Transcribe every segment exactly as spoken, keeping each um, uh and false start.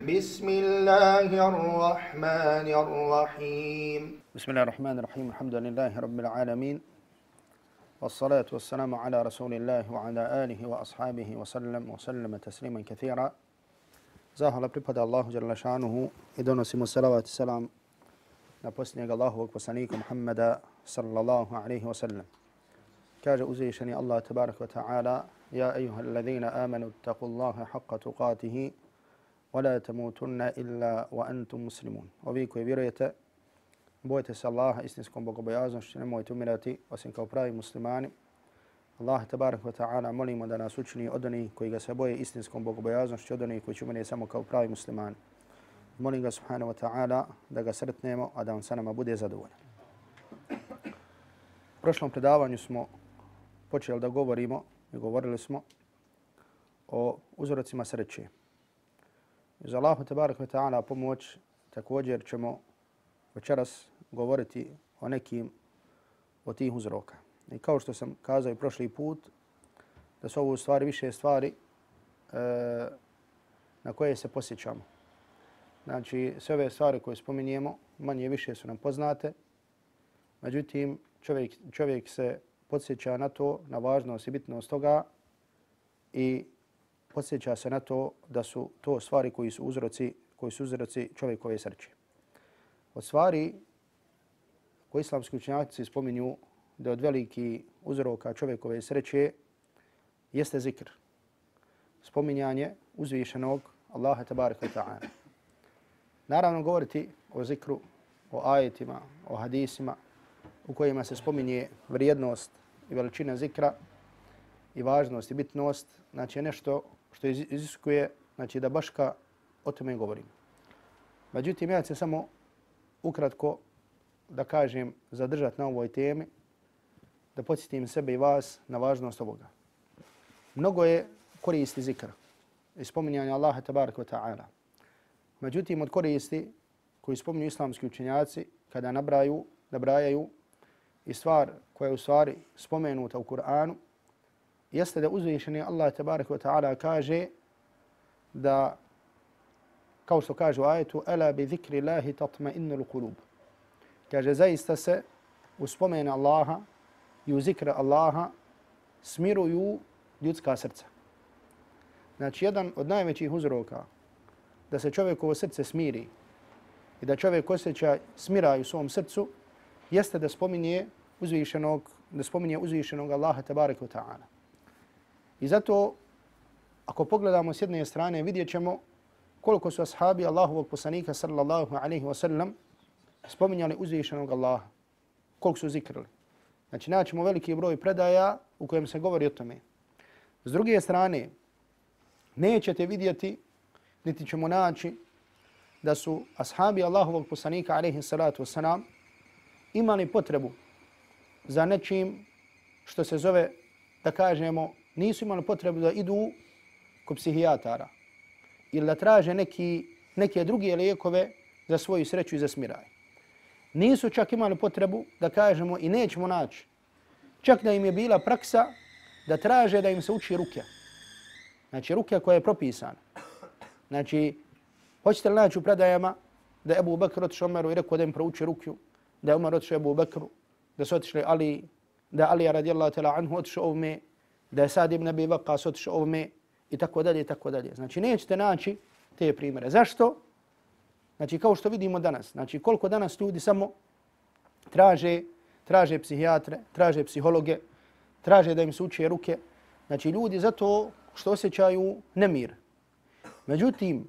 بسم الله الرحمن الرحيم بسم الله الرحمن الرحيم الحمد لله رب العالمين والصلاة والسلام على رسول الله وعلى آله وأصحابه وسلم وسلم تسليما كثيرا. Zahvala pripada Allahu dželle šanuhu i donosimo salavat i selam na posljednjeg Allahovog poslanika Muhammeda sallallahu alaihi wa sallam. Kaže uzvišeni Allah tabarak wa ta'ala: Ja ejuha alladhina amanu ittaqullaha haqqa tuqatihi wa la tamutunna illa wa antum muslimun. Ovi koji vjerujete, bojte se Allaha istinskom bogobojaznošću, nemojte umirati osim kao pravi muslimani. Allah tabarak wa ta'ala molimo da nas učini od onih koji ga se boje istinskom bogobojaznošću, od onih koji će umirati samo kao pravi muslimani. Molim ga subhanahu wa ta'ala da ga sretnemo, a da on sa nama bude zadovoljan. U prošlom predavanju smo počeli da govorimo i govorili smo o uzrocima sreće. Uz Allahu tabarak wa ta'ala pomoć također ćemo večeras govoriti o nekim od tih uzroka. I kao što sam kazao i prošli put, da su ovo stvari više stvari e, na koje se posjećamo. Znači, sve ove stvari koje spominjemo, manje više su nam poznate. Međutim, čovjek, čovjek se podsjeća na to, na važnost i bitnost toga i podsjeća se na to da su to stvari koji su uzroci, koji su uzroci čovjekove sreće. Od stvari koje islamski učenjaci spominju da od veliki uzroka čovjekove sreće jeste zikr. Spominjanje uzvišenog Allaha tabaraka wa ta'ala. Naravno govoriti o zikru, o ajetima, o hadisima u kojima se spominje vrijednost i veličina zikra i važnost i bitnost, znači nešto što iziskuje, znači da baška o tome govorim. Međutim, ja ću samo ukratko da kažem zadržati na ovoj temi, da podsjetim sebe i vas na važnost ovoga. Mnogo je koristi zikra i spominjanja Allaha tabaraka wa ta'ala. Međutim, od koristi koji spominju islamski učenjaci kada nabraju, nabrajaju i stvar koja je u stvari spomenuta u Kur'anu, jeste da uzvišeni Allah tabaraka wa ta'ala kaže da, kao što kaže u ajetu, Ala bi zikri Allahi tatma'innul qulub. Kaže, zaista se u spomenu Allaha i u zikra Allaha smiruju ljudska srca. Znači, jedan od najvećih uzroka da se čovjekovo srce smiri i da čovjek osjeća smiraj u svom srcu jeste da spominje uzvišenog, da spominje uzvišenog Allaha tabaraka wa ta'ala. I zato, ako pogledamo s jedne strane, vidjet ćemo koliko su ashabi Allahovog poslanika sallallahu alaihi wa sallam spominjali uzvišenog Allaha, koliko su zikrili. Znači, naćemo veliki broj predaja u kojem se govori o tome. S druge strane, nećete vidjeti, niti ćemo naći da su ashabi Allahovog poslanika alaihi salatu wasalam imali potrebu za nečim što se zove, da kažemo, nisu imali potrebu da idu kod psihijatara ili da traže neki, neke druge lijekove za svoju sreću i za smiraj. Nisu čak imali potrebu da kažemo i nećemo naći. Čak da im je bila praksa da traže da im se uči rukja. Znači rukja koja je propisana. Znači, hoćete li naći u predajama da je Ebu Bekr otišao Omeru i rekao da im prouči rukju, da je Omer otišao Ebu Bekru, da su otišli Ali, da je Ali radijallahu ta'ala anhu otišao ovome, da je Sad ibn Abi Waqqas otišao ovome i tako dalje i tako dalje. Znači, nećete naći te primjere. Zašto? Znači, kao što vidimo danas, znači koliko danas ljudi samo traže, traže psihijatre, traže psihologe, traže da im se uče ruke. Znači, ljudi zato što osjećaju nemir. Međutim,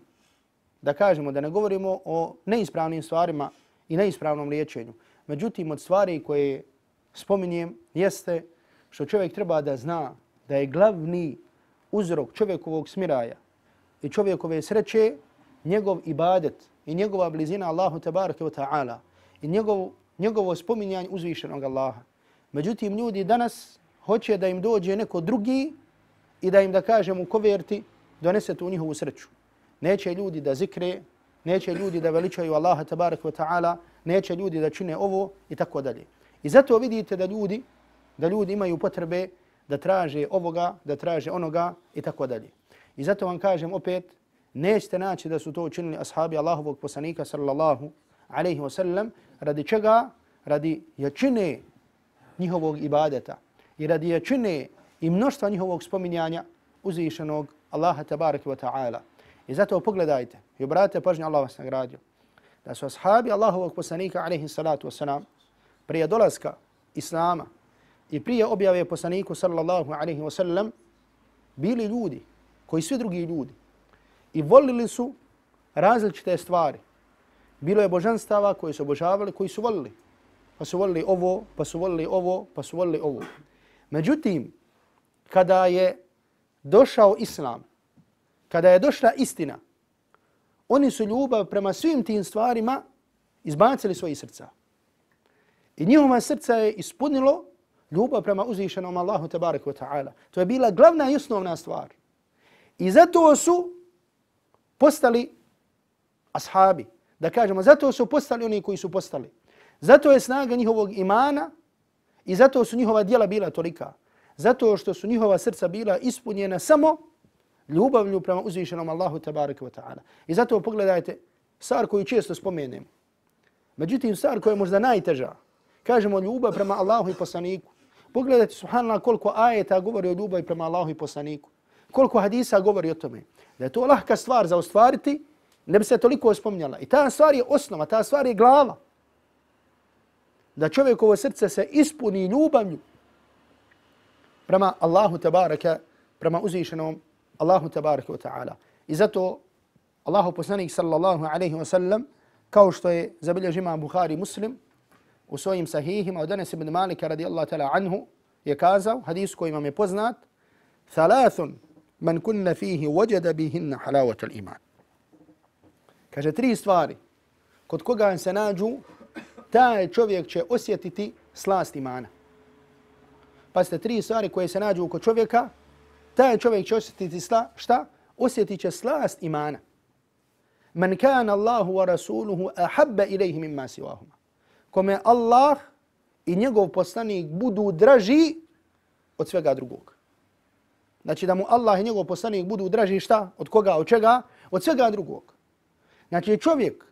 da kažemo, da ne govorimo o neispravnim stvarima i neispravnom liječenju. Međutim, od stvari koje spominjem jeste što čovjek treba da zna da je glavni uzrok čovjekovog smiraja i čovjekove sreće njegov ibadet i njegova blizina Allahu tabaraka wa ta'ala i njegov, njegovo spominjanje uzvišenog Allaha. Međutim, ljudi danas hoće da im dođe neko drugi i da im, da kažem, u koverti donese tu njihovu sreću. Neće ljudi da zikre, neće ljudi da veličaju Allaha tabaraka wa ta'ala, neće ljudi da čine ovo i tako dalje. I zato vidite da ljudi, da ljudi imaju potrebe da traže ovoga, da traže onoga i tako dalje. I zato vam kažem opet, nećete naći da su to učinili ashabi Allahovog poslanika sallallahu alaihi wa sallam. Radi čega? Radi jačine njihovog ibadeta i radi jačine i mnoštva njihovog spominjanja uzvišenog Allaha tabaraka wa ta'ala. I zato pogledajte i obratite pažnju, Allah vas nagradio, da su ashabi Allahovog poslanika alaihi salatu wasalam prije dolaska Islama i prije objave poslaniku sallallahu alaihi wa sallam bili ljudi koji svi drugi ljudi i volili su različite stvari. Bilo je božanstava koji su obožavali, koji su volili. Pa su volili ovo, pa su volili ovo, pa su volili ovo. Međutim, kada je došao Islam, kada je došla istina, oni su ljubav prema svim tim stvarima izbacili svojih srca. I njihova srca je ispunilo ljubav prema uzvišenom Allahu tabaraka wa ta'ala. To je bila glavna i osnovna stvar. I zato su postali ashabi. Da kažemo, zato su postali oni koji su postali. Zato je snaga njihovog imana i zato su njihova djela bila tolika. Zato što su njihova srca bila ispunjena samo ljubavlju prema uzvišenom Allahu tabaraka wa ta'ala. I zato pogledajte stvar koju često spomenemo. Međutim, stvar koja je možda najteža. Kažemo ljubav prema Allahu i poslaniku. Pogledajte, subhanallah, koliko ajeta govori o ljubavi prema Allahu i poslaniku. Koliko hadisa govori o tome. Da je to lahka stvar za ostvariti, ne bi se toliko spominjala. I ta stvar je osnova, ta stvar je glava. Da čovjekovo srce se ispuni ljubavlju prema Allahu tabaraka, prema uzvišenom Allahu tabaraka wa ta'ala. I zato Allahu poslanik sallallahu alaihi wa sallam, kao što je zabilježio imam Buhari Muslim u svojim sahihima od Anas ibn Malika radijallahu ta'ala anhu, je kazao, hadis koji vam je poznat, thalathun man kunna fihi wajada bihinna halawat al-iman. Kaže, tri stvari kod koga se nađu, taj čovjek će osjetiti slast imana. Pazite, tri stvari koje se nađu kod čovjeka, taj čovjek će osjetiti sla, šta? Osjetit će slast imana. Man kana Allahu wa rasuluhu ahabba ilayhi mimma siwahuma. Kome Allah i njegov poslanik budu draži od svega drugog. Znači da mu Allah i njegov poslanik budu draži šta? Od koga? Od čega? Od svega drugog. Znači čovjek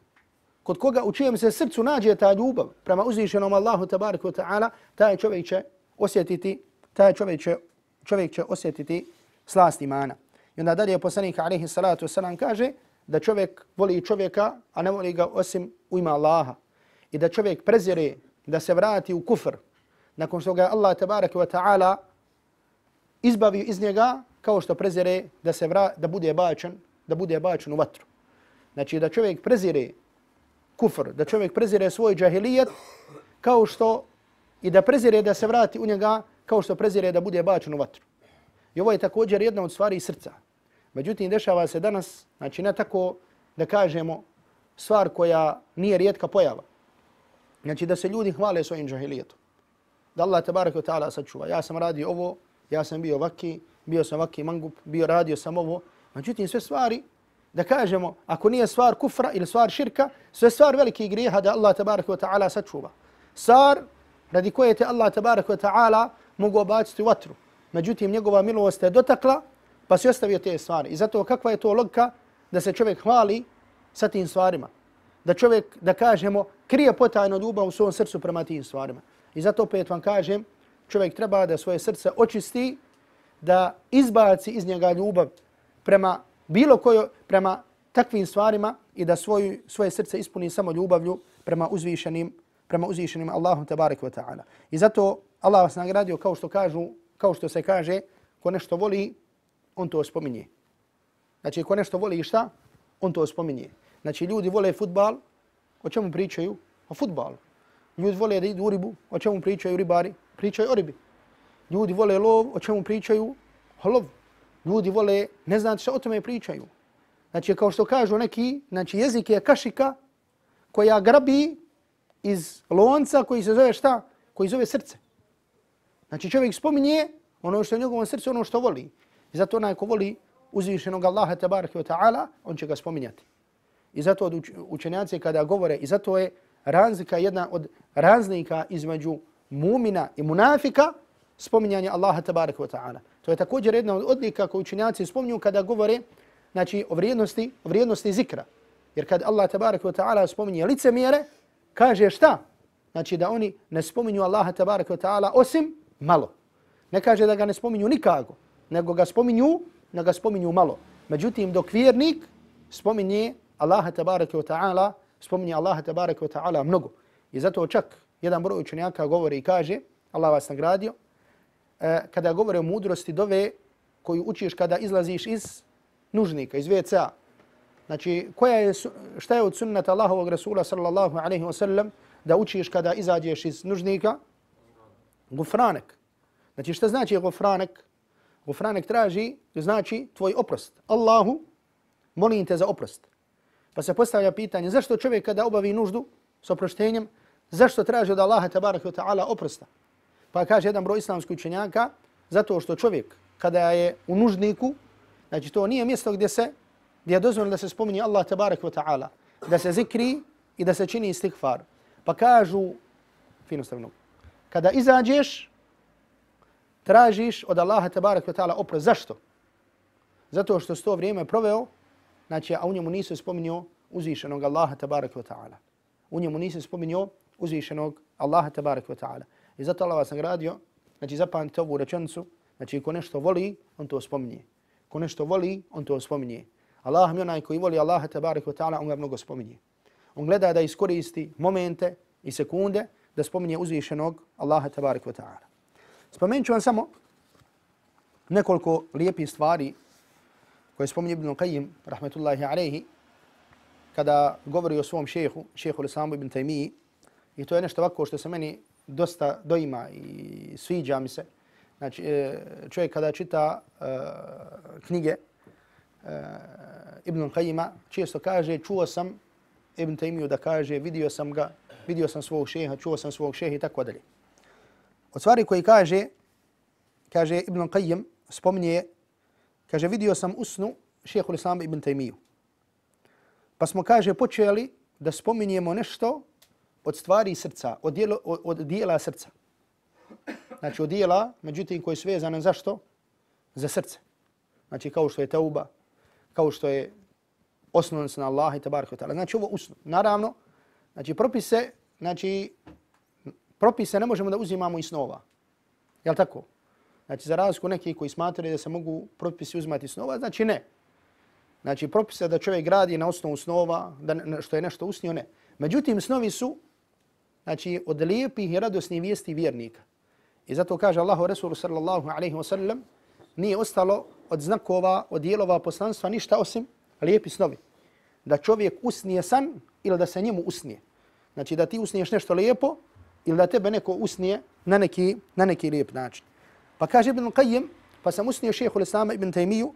kod koga u čijem se srcu nađe ta ljubav prema uzvišenom Allahu tabaraka wa ta'ala, taj čovjek će osjetiti, taj čovjek će, čovjek će osjetiti slast imana. I onda dalje poslanik alejhi salatu vesselam kaže da čovjek voli čovjeka, a ne voli ga osim u ime Allaha. I da čovjek prezire da se vrati u kufr nakon što ga Allah tabaraka wa ta'ala izbavi iz njega, kao što prezire da se vra, da bude bačen, da bude bačen u vatru. Znači da čovjek prezire kufr, da čovjek prezire svoj džahilijet, kao što i da prezire da se vrati u njega, kao što prezire da bude bačen u vatru. I ovo je također jedna od stvari srca. Međutim, dešava se danas, znači ne tako da kažemo stvar koja nije rijetka pojava. Znači da se ljudi hvale svojim džahilijetom. Da Allah tabaraka wa ta'ala sačuva. Ja sam radio ovo, ja sam bio vaki, bio sam vaki mangup, bio radio sam ovo. Međutim, sve stvari, da kažemo, ako nije stvar kufra ili stvar širka, sve stvar velikih grijeha da Allah tabaraka wa ta'ala sačuva. Stvar radi koje te Allah tabaraka wa ta'ala mogu obaciti u vatru. Međutim, njegova milost je dotakla, pa se ostavio te stvari. I zato kakva je to logika da se čovjek hvali sa tim stvarima? Da čovjek, da kažemo, krije potajno ljubav u svom srcu prema tim stvarima. I zato opet vam kažem, čovjek treba da svoje srce očisti, da izbaci iz njega ljubav prema bilo kojo, prema takvim stvarima i da svoju, svoje srce ispuni samo ljubavlju prema uzvišenim, prema uzvišenim Allahom tabaraka wa ta'ala. I zato Allah vas nagradio, kao što kažu, kao što se kaže, ko nešto voli, on to spominje. Znači, ko nešto voli šta, on to spominje. Znači, ljudi vole fudbal, o čemu pričaju? O fudbalu. Ljudi vole da idu u ribu, o čemu pričaju ribari? Pričaju o ribi. Ljudi vole lov, o čemu pričaju? O lovu. Ljudi vole, ne znate što o tome pričaju. Znači, kao što kažu neki, znači, jezik je kašika koja grabi iz lonca koji se zove šta? Koji zove srce. Znači, čovjek spominje ono što je u njegovom srcu, ono što voli. I zato onaj ko voli uzvišenog Allaha tabaraka wa ta'ala, on će ga spominjati. I zato od učenjaci kada govore, i zato je razlika, jedna od razlika između mumina i munafika, spominjanje Allaha tabaraka wa ta'ala. To je također jedna od odlika koju učenjaci spominju kada govore znači o vrijednosti, o vrijednosti zikra. Jer kad Allah tabaraka wa ta'ala spominje licemjere, kaže šta? Znači da oni ne spominju Allaha tabaraka wa ta'ala osim malo. Ne kaže da ga ne spominju nikako, nego ga spominju, nego ga spominju malo. Međutim, dok vjernik spominje Allaha tabaraka wa ta'ala, spominje Allaha tabaraka wa ta'ala mnogo. I zato čak jedan broj učenjaka govori i kaže, Allah vas nagradio, eh, kada govore o mudrosti dove koju učiš kada izlaziš iz nužnika, iz ve ce a. Znači, koja je, šta je od sunnata Allahovog Rasula sallallahu alaihi wa sallam da učiš kada izađeš iz nužnika? Gufranek. Znači, šta znači gufranek? Gufranek traži, znači tvoj oprost. Allahu, molim te za oprost. Pa se postavlja pitanje, zašto čovjek kada obavi nuždu s oproštenjem, zašto traži od Allaha tabaraka wa ta'ala oprosta? Pa kaže jedan broj islamskih učenjaka, zato što čovjek kada je u nužniku, znači to nije mjesto gdje se, gdje je dozvoljeno da se spominje Allah tabaraka wa ta'ala, da se zikri i da se čini istighfar. Pa kažu, fino stavno, kada izađeš, tražiš od Allaha tabaraka wa ta'ala oprost. Zašto? Zato što s to vrijeme proveo, znači, a u njemu nisu spominjao uzvišenog Allaha tabaraka wa ta'ala. U njemu nisu spominjao uzvišenog Allaha tabaraka wa ta'ala. I zato Allah vas nagradio, znači zapamtite ovu rečenicu, znači ko nešto voli, on to spominje. Ko nešto voli, on to spominje. Allah mi onaj koji voli Allaha tabaraka wa ta'ala, on ga mnogo spominje. On gleda da iskoristi momente i sekunde da spominje uzvišenog Allaha tabaraka wa ta'ala. Spomenut ću vam samo nekoliko lijepih stvari koje spominje Ibn Qayyim, rahmetullahi alaihi, kada govori o svom šehu, šehu l-Islamu Ibn Taymiji. I to je nešto ovako što se meni dosta doima i sviđa mi se. Znači, čovjek kada čita uh, knjige uh, Ibn Qayyima, često kaže, čuo sam Ibn Taymiju da kaže, vidio sam ga, vidio sam svog šeha, čuo sam svog šeha i tako dalje. Od stvari koji kaže, kaže Ibn Qayyim, spominje, kaže, vidio sam u snu šehu l-Islama Ibn Taymiju. Pa smo, kaže, počeli da spominjemo nešto od stvari srca, od dijela, od, od dijela srca. Znači od dijela, međutim, koji su vezane zašto? Za srce. Znači kao što je tauba, kao što je osnovan se na Allah i tabaraka wa ta'ala. Znači ovo usnu. Naravno, znači propise, znači propise ne možemo da uzimamo iz snova. Jel' tako? Znači za razliku neki koji smatraju da se mogu propisi uzimati iz snova, znači ne. Znači propise da čovjek gradi na osnovu snova, da što je nešto usnio, ne. Međutim, snovi su, znači, od lijepih i radosnih vijesti vjernika. I zato kaže Allahu Rasulu sallallahu alaihi wa sallam, nije ostalo od znakova, od dijelova poslanstva ništa osim lijepi snovi. Da čovjek usnije san ili da se njemu usnije. Znači da ti usniješ nešto lijepo ili da tebe neko usnije na neki, na neki lijep način. Pa kaže Ibn Qayyim, pa sam usnio šehu l-Islama Ibn Taymiju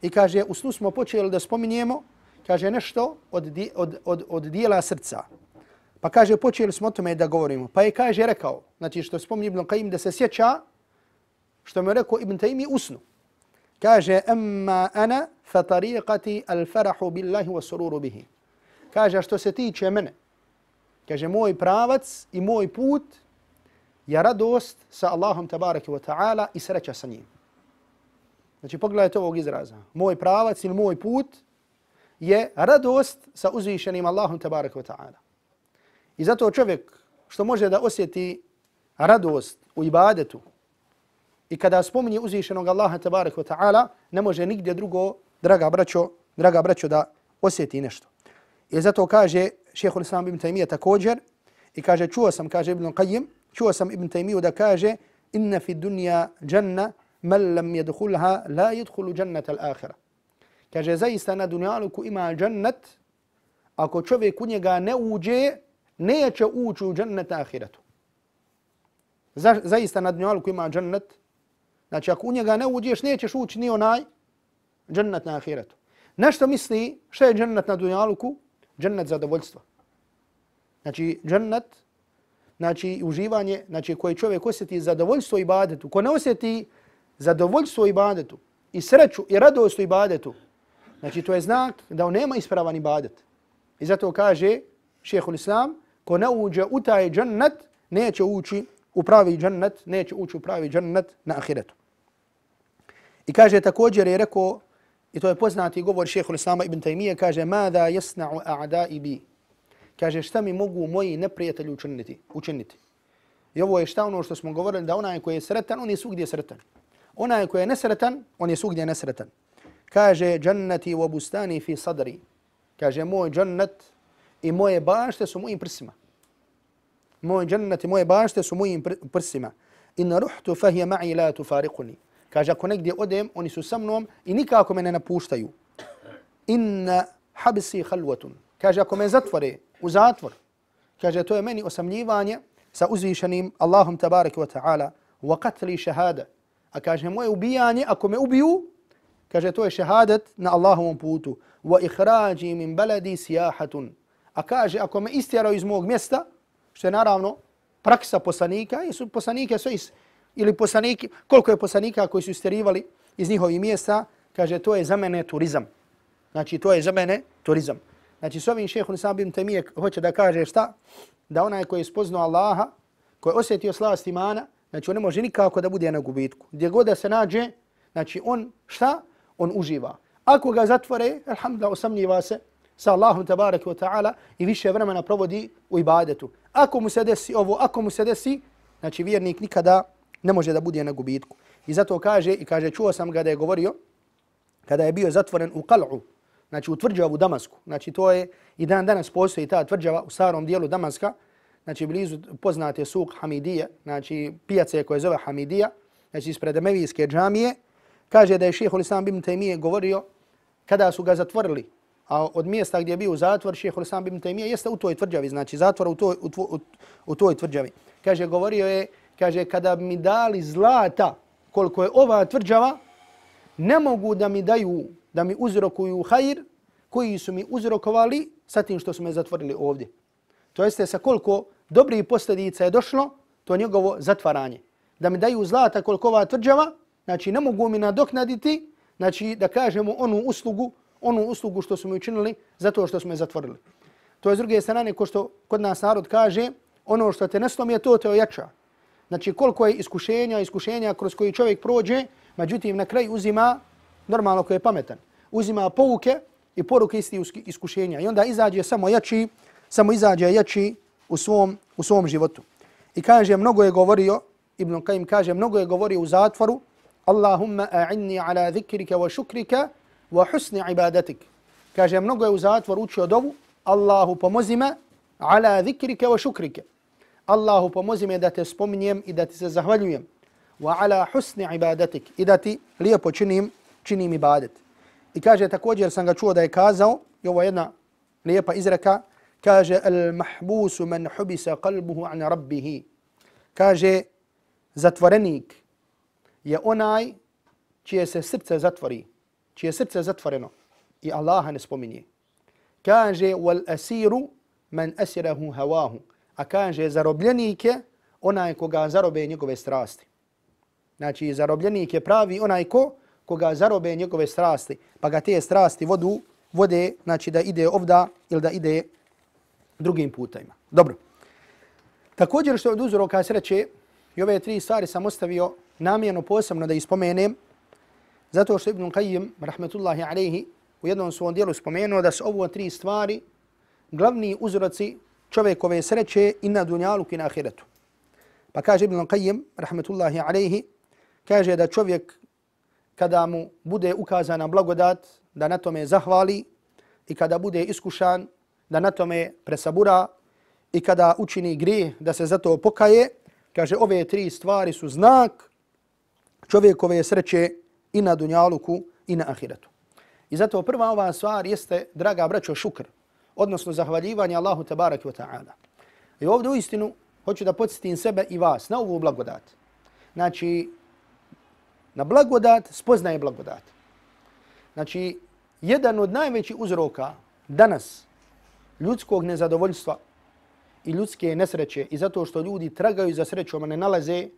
i kaže, u snu smo počeli da spominjemo, kaže, nešto od, di, od, od, od dijela srca. Pa kaže, počeli smo o tome da govorimo. Pa je, kaže, rekao, znači što spominje Ibn Qayyim, da se sjeća što mi je rekao Ibn Taymiji u snu. Kaže, amma ana fa tariqati al-farahu billahi wa sururu bihi. Kaže, što se tiče mene, kaže, moj pravac i moj put je radost sa Allahom tabaraka wa ta'ala i sreća sa njim. Znači, pogledajte ovog izraza. Moj pravac ili moj put je radost sa uzvišenim Allahom tabaraka wa ta'ala. I zato čovjek što može da osjeti radost u ibadetu i kada spominje uzvišenog Allaha tabaraka wa ta'ala, ne može nigdje drugo, draga braćo, draga braćo, da osjeti nešto. I zato kaže šejh l-Islam Ibn Taymija također, i kaže, čuo sam, kaže Ibn Qayyim, čuo sam Ibn Taymiju da kaže, inna fi dunja janna man lam yadkhulha la yadkhulu jannata al-akhirah. Kaže, zaista na dunjaluku ima džennet, ako čovjek u njega ne uđe, neće ući u džennet ahiretu. Za, zaista na dunjaluku ima džennet, znači ako u njega ne uđeš, nećeš ući ni onaj džennet na ahiretu. Nešto misli, šta je džennet na dunjaluku? Džennet zadovoljstva. Znači džennet, znači uživanje, znači koji čovjek osjeti zadovoljstvo ibadetu, ko ne osjeti zadovoljstvo ibadetu i sreću i radost u ibadetu, znači to je znak da on nema ispravan ibadet. I zato kaže šejhul Islam, ko ne uđe u taj džennet, neće ući u pravi džennet, neće ući u pravi džennet na ahiretu. I kaže također je rekao i to je poznati govor šejhul Islama ibn Taymije, kaže mada yasna'u a'da'i bi. Kaže šta mi mogu moji neprijatelji učiniti? učiniti. I ovo je šta ono što smo govorili, da onaj koji je sretan, on je svugdje sretan. Onaj koji je nesretan, on je svugdje nesretan. Kaže jannati wa bustani fi sadri. Kaže moj džennet i moje bašte su mojim prsima. Moj džennet i moje bašte su mojim prsima. In ruhtu fa hiya ma'i la tufariquni. Kaže ako negdje odem, oni su sa mnom i nikako me ne napuštaju. Inna habsi khalwatun. Kaže ako me zatvore u zatvor, kaže to je meni osamljivanje sa uzvišenim Allahom tabaraka wa ta'ala, wa qatli shahada. A kaže moje ubijanje, ako me ubiju, kaže to je šehadet na Allahovom putu. Wa ikhraji min baladi siyahatun. A kaže ako me istjeraju iz mog mjesta, što je naravno praksa poslanika, i su poslanike sve iz, ili poslaniki, koliko je poslanika koji su istjerivali iz njihovih mjesta, kaže to je za mene turizam. Znači to je za mene turizam. Znači s ovim šejhul Islam ibn Taymije hoće da kaže šta? Da onaj koji je spoznao Allaha, koji je osjetio slast imana, znači on ne može nikako da bude na gubitku. Gdje god da se nađe, znači on šta? On uživa. Ako ga zatvore, alhamdulillah, osamljiva se sa Allahom tabaraka wa ta'ala i više vremena provodi u ibadetu. Ako mu se desi ovo, ako mu se desi, znači vjernik nikada ne može da bude na gubitku. I zato kaže, i kaže, čuo sam ga da je govorio, kada je bio zatvoren u Qal'u, znači u tvrđavu Damasku, znači to je i dan danas postoji ta tvrđava u starom dijelu Damaska, znači blizu poznate suk Hamidije, znači pijace koje zove Hamidija, znači ispred Emevijske džamije, kaže da je šejhul Islam ibn Taymije govorio kada su ga zatvorili, a od mjesta gdje je bio zatvor šejhul Islam ibn Taymije jeste u toj tvrđavi, znači zatvor u toj, u, u, u toj tvrđavi. Kaže, govorio je, kaže, kada mi dali zlata koliko je ova tvrđava, ne mogu da mi daju, da mi uzrokuju hajr koji su mi uzrokovali sa tim što su me zatvorili ovdje. To jeste sa koliko dobrih posljedica je došlo, to je njegovo zatvaranje. Da mi daju zlata koliko ova tvrđava, znači ne mogu mi nadoknaditi, znači da kažemo onu uslugu, onu uslugu što su mi učinili zato što su me zatvorili. To je s druge strane, ko što kod nas narod kaže, ono što te ne slomi, to te ojača. Znači koliko je iskušenja, iskušenja kroz koji čovjek prođe, međutim na kraju uzima, normalno ko je pametan, uzima pouke i poruke isti iskušenja i onda izađe samo jači, samo izađe jači u svom, u svom životu. I kaže, mnogo je govorio, Ibn Qayyim kaže, mnogo je govorio u zatvoru, Allahumma a'inni ala zikrika wa šukrika wa husni ibadatik. Kaže, mnogo je u zatvoru učio dovu, Allahu pomozi me ala zikrika wa šukrika. Allahu pomozi me da te spominjem i da ti se zahvaljujem. Wa ala husni ibadatik. I da ti lijepo činim, činim ibadet. I kaže, također sam ga čuo da je kazao, i ovo je jedna lijepa izreka, kaže, al mahbusu man hubisa qalbuhu an rabbihi. Kaže, zatvorenik je onaj čije se srce zatvori, čije srce zatvoreno i Allaha ne spominje. Kaže, wal asiru man asirahu hawahu. A kaže, zarobljenik je onaj koga zarobe njegove strasti. Znači, zarobljenik je pravi onaj ko koga zarobe njegove strasti, pa ga te strasti vodu, vode, znači da ide ovda ili da ide drugim putajima. Dobro. Također što je od uzroka sreće, i ove tri stvari sam ostavio namjerno posebno da ispomenem, zato što Ibn Qayyim, rahmetullahi alejhi, u jednom svom dijelu spomenuo da su ovo tri stvari glavni uzroci čovjekove sreće i na dunjalu i na ahiretu. Pa kaže Ibn Qayyim, rahmetullahi alejhi, kaže da čovjek kada mu bude ukazana blagodat, da na tome zahvali i kada bude iskušan, da na tome presabura i kada učini grijeh, da se zato pokaje, kaže ove tri stvari su znak čovjekove sreće i na dunjaluku i na ahiretu. I zato prva ova stvar jeste, draga braćo, šukr, odnosno zahvaljivanje Allahu tabaraka wa ta'ala. I ovdje u istinu hoću da podsjetim sebe i vas na ovu blagodat. Znači, na blagodat spoznaje blagodat. Znači, jedan od najvećih uzroka danas ljudskog nezadovoljstva i ljudske nesreće i zato što ljudi tragaju za srećom, a ne nalaze,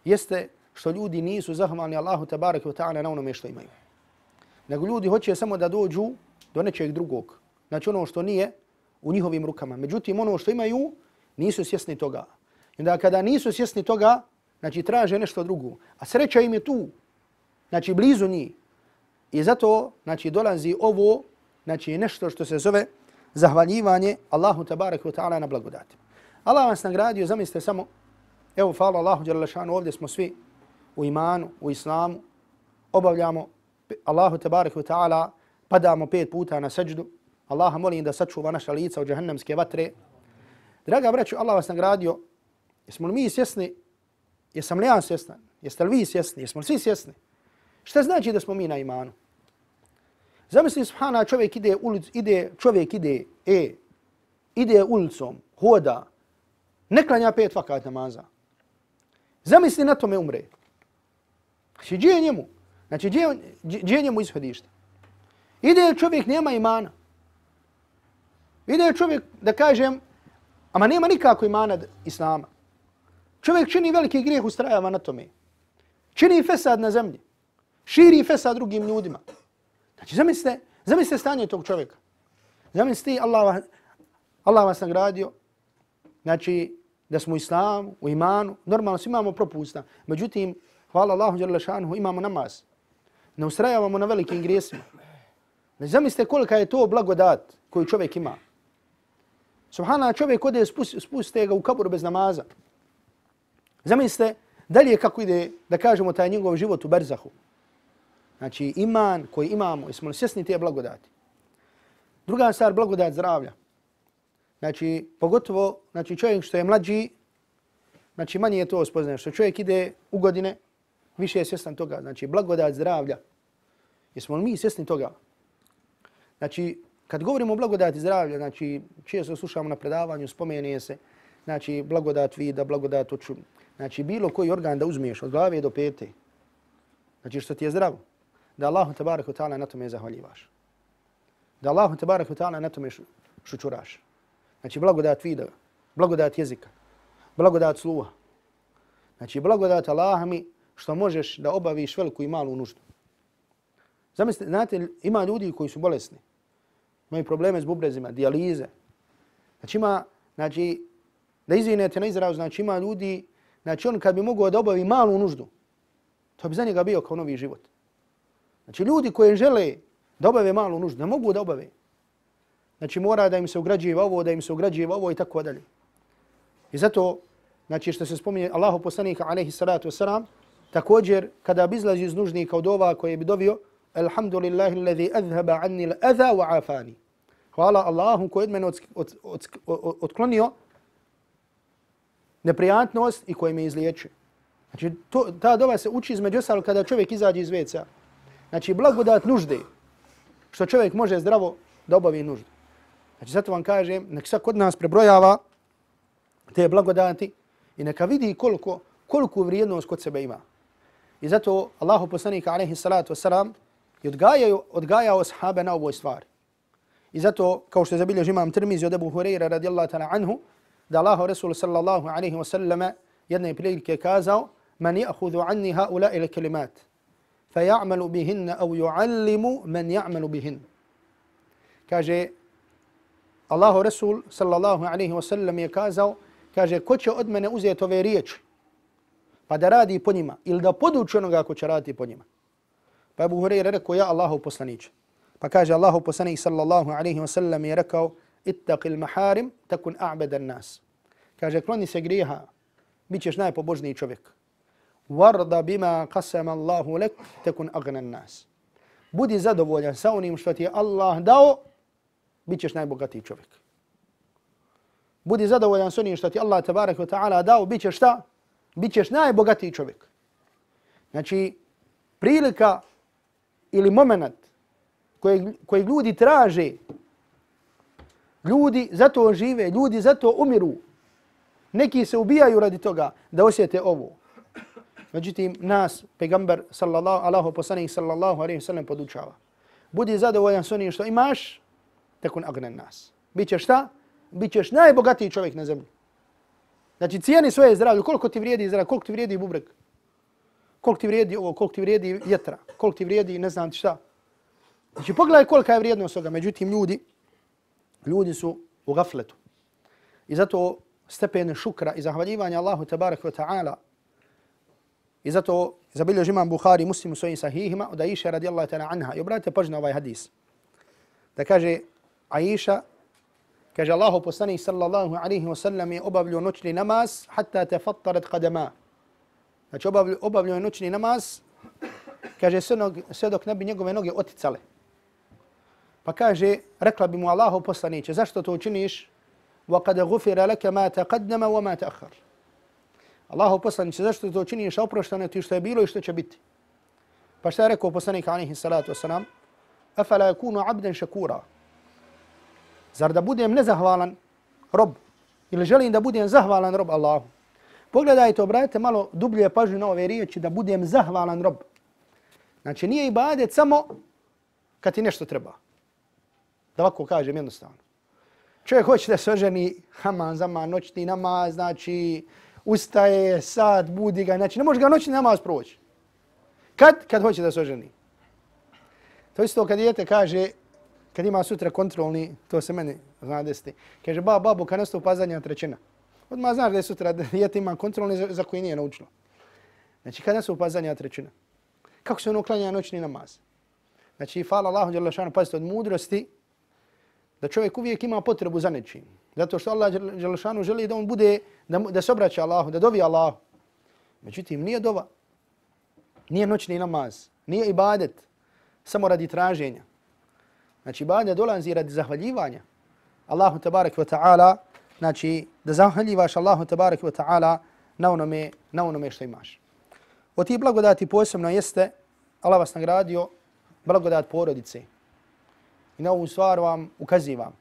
jeste što ljudi nisu zahvalni Allahu tabaraka wa ta'ala na onome što imaju. Nego ljudi hoće samo da dođu do nečeg drugog. Znači ono što nije u njihovim rukama. Međutim, ono što imaju nisu svjesni toga. I onda kada nisu svjesni toga, znači traže nešto drugo. A sreća im je tu. Znači blizu njih. I zato, znači, dolazi ovo, znači, nešto što se zove zahvaljivanje Allahu tabaraka wa ta'ala na blagodati. Allah vas nagradio, zamislite samo, evo, hvala Allahu dželle šanu, ovdje smo svi u imanu, u islamu, obavljamo Allahu tabaraka wa ta'ala, padamo pet puta na seđdu, Allaha molim da sačuva naša lica od džahannamske vatre. Draga braću, Allah vas nagradio, jesmo li mi svjesni, jesam li ja svjestan, jeste li vi svjesni, jesmo li svi svjesni? Šta znači da smo mi na imanu? Zamisli, subhana, čovjek ide, ulic, ide, čovjek ide, e, ide ulicom, hoda, ne klanja pet vakat namaza. Zamisli, na tome umre. Znači, gdje je njemu? Znači, gdje, gdje je njemu ishodište? Ide čovjek, nema imana. Ide čovjek, da kažem, ama nema nikako imana islama. Čovjek čini veliki grijeh, ustrajava na tome. Čini fesad na zemlji. Širi fesad drugim ljudima. Znači, zamislite, zamislite stanje tog čovjeka. Zamislite, Allah, Allah vas nagradio, znači, da smo u islamu, u imanu, normalno svi imamo propusta. Međutim, hvala Allahu dželle šanuhu, imamo namaz. Ne ustrajavamo na velikim grijesima. Znači, zamislite kolika je to blagodat koju čovjek ima. Subhanallah, čovjek ode, spustite ga u kabur bez namaza. Zamislite dalje kako ide, da kažemo, taj njegov život u berzahu. Znači, iman koji imamo, jesmo li svjesni te blagodati. Druga stvar, blagodat zdravlja. Znači, pogotovo, znači, čovjek što je mlađi, znači, manje je to spoznaje. Što čovjek ide u godine, više je svjestan toga. Znači, blagodat zdravlja. Jesmo li mi svjesni toga? Znači, kad govorimo o blagodati zdravlja, znači, često slušamo na predavanju, spomenuje se, znači, blagodat vida, blagodat oču. Znači, bilo koji organ da uzmiješ od glave do pete, znači, što ti je zdravo, da Allahu tabaraka wa ta'ala na tome zahvaljivaš. Da Allahu tabaraka wa ta'ala na tome šučuraš. Znači, blagodat vida, blagodat jezika, blagodat sluha. Znači, blagodat Allaha mi što možeš da obaviš veliku i malu nuždu. Zamislite, znate, ima ljudi koji su bolesni, imaju probleme s bubrezima, dijalize. Znači, ima, znači, da izvinete na izrazu, znači, ima ljudi, znači, on kad bi mogao da obavi malu nuždu, to bi za njega bio kao novi život. Znači, ljudi koji žele da obave malu nuždu, ne mogu da obave. Znači, mora da im se ugrađiva ovo, da im se ugrađiva ovo i tako dalje. I zato, znači, što se spominje Allahu poslanika, alejhi salatu vesselam, također, kada bi izlazi iz nužnika od ova koje bi dovio, Alhamdulillahi alladhi azhaba anni al-adha wa afani. Hvala Allahu koji od mene od, od, od, od, otklonio neprijatnost i koji me izliječio. Znači, to, ta dova se uči između ostalog kada čovjek izađe iz ve ce a. Znači, blagodat nužde, što čovjek može zdravo da obavi nuždu. Znači, zato vam kažem, nek svak od nas prebrojava te blagodati i neka vidi koliko, koliko vrijednost kod sebe ima. I zato Allahu poslanika, alejhi salatu vesselam, je odgajao, odgajao sahabe na ovoj stvari. I zato, kao što je zabilježi imam Tirmizi od Ebu Hureyra radijallahu ta'ala anhu, da Allahu Rasul sallallahu alejhi ve selleme jedne prilike kazao: "Man ya'khudhu anni ha'ula'i al-kalimat fa ya'malu bihinna aw yu'allimu man ya'malu bihin." Kaže Allahu Rasul sallallahu alejhi ve sellem je kazao, kaže, ko će od mene uzeti ove riječi pa da radi po njima ili da poduči onoga ko će raditi po njima. Pa Abu Hurajra rekao: ja Allahov poslaniče. Pa kaže Allahov poslanik sallallahu alejhi ve sellem je rekao: ittaqil maharim takun a'bada an-nas. Kaže, kloni se grijeha, bićeš najpobožniji čovjek. Warda bima qasama Allahu lak takun aghna an-nas. Budi zadovoljan sa onim što ti je Allah dao, bićeš najbogatiji čovjek. Budi zadovoljan sa onim što ti Allah tebareke ve taala dao, bićeš šta? Bićeš najbogatiji čovjek. Znači, prilika ili moment kojeg, kojeg ljudi traže, ljudi zato žive, ljudi zato umiru. Neki se ubijaju radi toga da osjete ovo. Međutim, nas, pegamber, sallallahu, Allahu poslanik, sallallahu alejhi ve sellem podučava. Budi zadovoljan s onim što imaš, takun agnan nas. Bićeš šta? Bićeš najbogatiji čovjek na zemlji. Znači, cijeni svoje zdravlje, koliko ti vrijedi zdravlje, koliko ti vrijedi bubreg, koliko ti vrijedi ovo, koliko ti vrijedi vjetra, koliko ti vrijedi ne znam ti šta. Znači, pogledaj kolika je vrijednost toga. Međutim, ljudi, ljudi su u gafletu. I zato stepene šukra i zahvaljivanja Allahu tabaraka wa ta'ala I zato zabilježi imam Buhari Muslim u svojim sahihima od Aisha radijallahu ta'ala anha. I obratite pažnju na ovaj hadis. Da kaže Aisha, kaže Allahu poslanik sallallahu alaihi wa sallam je obavljio noćni namaz hatta tefattarat qadama. Znači obavljio, obavljio je noćni namaz, kaže sve dok ne bi njegove noge oticale. Pa kaže, rekla bi mu Allahu poslaniće, zašto to učiniš? وَقَدْ غُفِرَ لَكَ مَا تَقَدَّمَ وَمَا تَأَخَّرَ. Allahu poslaniće, zašto to učiniš? A oprošteno ti što je bilo i što će biti. Pa šta je rekao poslanik alaihi salatu wasalam? أَفَلَا يَكُونُ عَبْدًا شَكُورًا. Zar da budem nezahvalan rob? Ili želim da budem zahvalan rob Allahu? Pogledajte, obratite malo dublje pažnju na ove riječi, da budem zahvalan rob. Znači nije ibadet samo kad ti nešto treba. Da ovako kažem jednostavno. Čovjek hoće da se oženi, haman, zaman, noćni namaz, znači ustaje, sad, budi ga, znači ne može ga noćni namaz proći. Kad? Kad hoće da se oženi. To isto kad dijete kaže, kad ima sutra kontrolni, to se meni zna desiti. Kaže, ba, babo, kad nastupa zadnja trećina. Odmah znaš da je sutra dijete ima kontrolni za, za koji nije naučilo. Znači kad nastupa zadnja trećina. Kako se ono klanja noćni namaz? Znači, hvala Allahu dželle šanu, pazite, od mudrosti, da čovjek uvijek ima potrebu za nečim. Zato što Allah dželle šanu želi da on bude, da, da se obraća Allahu, da dovi Allahu. Međutim, nije dova, nije noćni namaz, nije ibadet, samo radi traženja. Znači, ibadet dolazi radi zahvaljivanja Allahu tebarek ve ta'ala, znači, da zahvaljivaš Allahu tebarek ve ta'ala na onome, na onome što imaš. Od tih blagodati posebno jeste, Allah vas nagradio, blagodat porodice. I na ovu stvar vam ukazivam.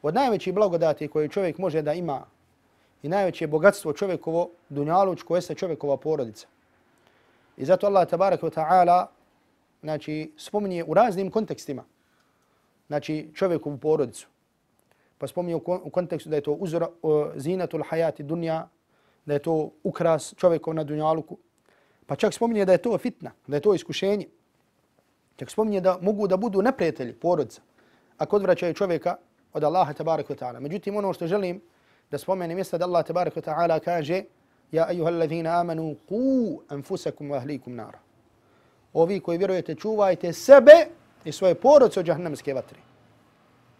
Od najvećih blagodati koje čovjek može da ima i najveće bogatstvo čovjekovo, dunjalučko, jeste čovjekova porodica. I zato Allah tabarak wa ta'ala, znači, spominje u raznim kontekstima, znači, čovjekovu porodicu. Pa spominje u kontekstu da je to uzora, zinatul hayati dunja, da je to ukras čovjekov na dunjaluku. Pa čak spominje da je to fitna, da je to iskušenje. Čak spominje da mogu da budu neprijatelji porodica ako odvraćaju čovjeka od Allaha tabaraka wa ta'ala. Međutim, ono što želim da spomenem jeste da Allah tabaraka wa ta'ala kaže ja ejuhallazina amanu qu anfusakum wa ahlikum nara. Ovi koji vjerujete, čuvajte sebe i svoje porodice od džahannamske vatre.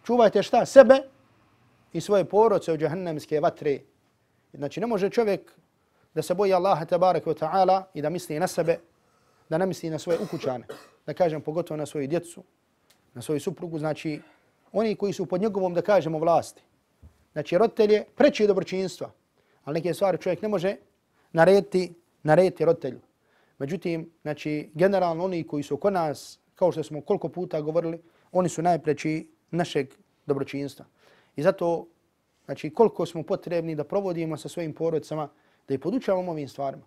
Čuvajte šta? Sebe i svoje porodice od džahannamske vatre. Znači, ne može čovjek da se boji Allaha tabaraka wa ta'ala i da misli na sebe, da ne misli na svoje ukućane, da kažem pogotovo na svoju djecu, na svoju suprugu, znači oni koji su pod njegovom, da kažemo, vlasti. Znači roditelje preče dobročinstva, ali neke stvari čovjek ne može narediti, narediti roditelju. Međutim, znači generalno oni koji su oko nas, kao što smo koliko puta govorili, oni su najpreči našeg dobročinstva. I zato, znači koliko smo potrebni da provodimo sa svojim porodicama, da ih podučavamo ovim stvarima.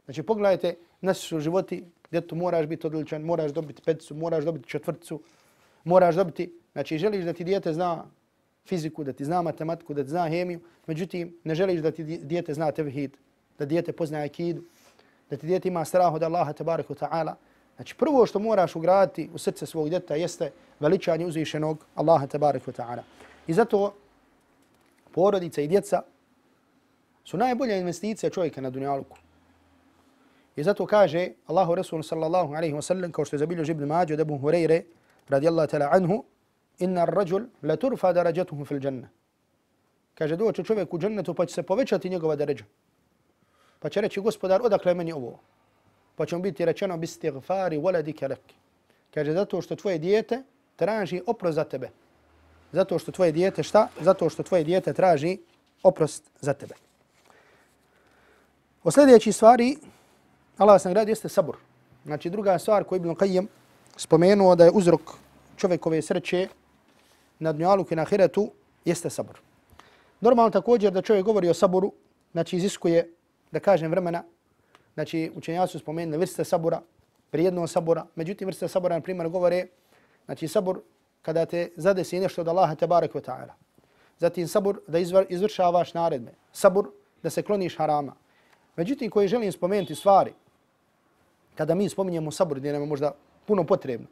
Znači pogledajte, naši su životi, djetu moraš biti odličan, moraš dobiti peticu, moraš dobiti četvrticu, moraš dobiti, znači želiš da ti dijete zna fiziku, da ti zna matematiku, da ti zna hemiju, međutim ne želiš da ti dijete zna tevhid, da dijete poznaje akidu, da ti dijete ima strah od Allaha tabaraka wa ta'ala. Znači prvo što moraš ugraditi u srce svog djeta jeste veličanje uzvišenog Allaha tabaraka wa ta'ala. I zato porodica i djeca su najbolja investicija čovjeka na dunjaluku. I zato kaže Allahu Rasul sallallahu alaihi wa sallam, kao što je zabilježio Ibn Mađe od Ebu Hureyre radijallahu ta'ala anhu, inna ar-rajul la turfa darajatuhu fil janna. Kaže doće čovjek u džennetu pa će se povećati njegova deređa. Pa će reći gospodar odakle meni ovo? Pa će mu biti rečeno bistighfari waladika lak. Kaže zato što tvoje dijete traži oprost za tebe. Zato što tvoje dijete šta? Zato što tvoje dijete traži oprost za tebe. O sljedeći stvari Allah vas nagradi jeste sabur. Znači druga stvar koju Ibn Qayyim spomenuo da je uzrok čovjekove sreće na dunjaluku i na ahiretu jeste sabur. Normalno također da čovjek govori o saburu, znači iziskuje, da kažem, vremena. Znači učenjaci su spomenuli vrste sabura, vrijednost sabura. Međutim vrste sabura na primjer govore, znači sabur kada te zadesi nešto od Allaha tebarek ve ta'ala. Zatim sabur da izvršavaš naredbe. Sabur da se kloniš harama. Međutim koji želim spomenuti stvari, kada mi spominjemo sabur gdje nam je možda puno potrebno,